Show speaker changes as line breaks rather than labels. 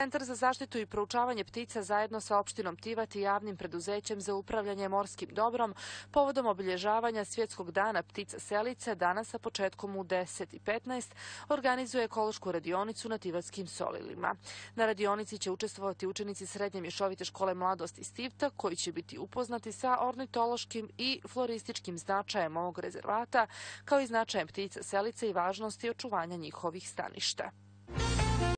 Centar za zaštitu i proučavanje ptica zajedno sa opštinom Tivat i javnim preduzećem za upravljanje morskim dobrom povodom obilježavanja Svjetskog dana ptica selice danas sa početkom u 10:15 organizuje ekološku radionicu na Tivatskim solilima. Na radionici će učestvovati učenici Srednje mješovite škole Mladost iz Tivta koji će biti upoznati sa ornitološkim i florističkim značajem ovog rezervata kao i značajem ptica selice i važnosti očuvanja njihovih staništa.